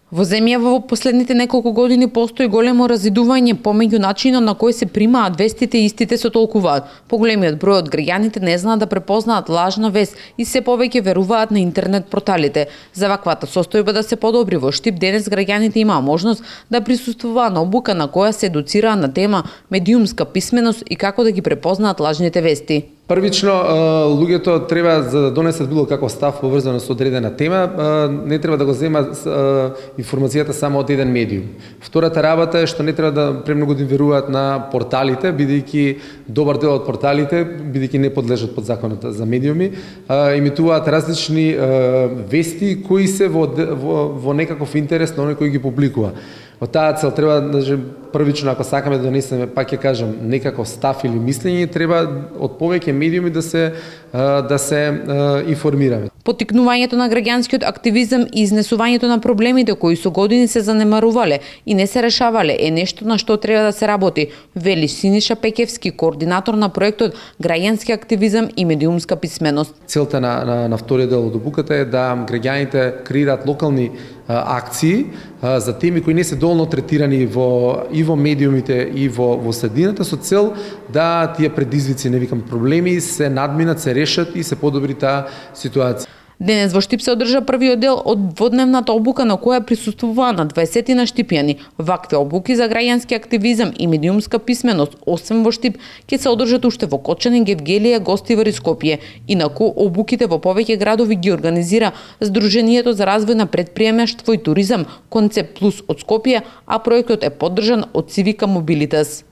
Во земјава во последните неколку години постои големо разидување помеѓу начинот на кој се примаат вестите и истите се толкуваат. Поголемиот број од граѓаните не знаат да препознаат лажна вест и се повеќе веруваат на интернет порталите. За ваквата состојба да се подобри во Штип, денес граѓаните имаа можност да присуствуваат на обука на која се едуцираат на тема медиумска писменост и како да ги препознаат лажните вести. Првично, луѓето треба за да донесат било каков став поврзано со одредена тема, не треба да го земат информацијата само од еден медиум. Втората работа е што не треба да премногу да веруваат на порталите, бидејќи добар дел од порталите, бидејќи не подлежат под законот за медиуми, имитуваат различни вести кои се во некаков интерес на оној кој ги публикува. Од таа цел треба првично, ако сакаме да донесеме, пак ќе кажам, некаков став или мислење, треба од повеќе медиуми да се информираме. Поттикнувањето на граѓанскиот активизам и изнесувањето на проблемите кои со години се занемарувале и не се решавале е нешто на што треба да се работи, вели Синиша Пекевски, координатор на проектот Граѓански активизам и медиумска писменост. Целта на вториот дел од обуката е да граѓаните креираат локални акции за теми кои не се доволно третирани и во медиумите и во средината, со цел да тие предизвици, не викам проблеми, се надминат, се решат и се подобри таа ситуација. Денес во Штип се одржа првиот дел од дводневната обука на која присуствуваа на 20 на штипјани. Вакви обуки за граѓански активизам и медиумска писменост, освен во Штип, ќе се одржат уште во Кочанин, Гевгелија, Гостивар и Скопје. Инаку обуките во повеќе градови ги организира Сдруженијето за развој на претприемаштво и туризам Концепт Плюс од Скопје, а проектот е поддржан од Цивика Мобилитас.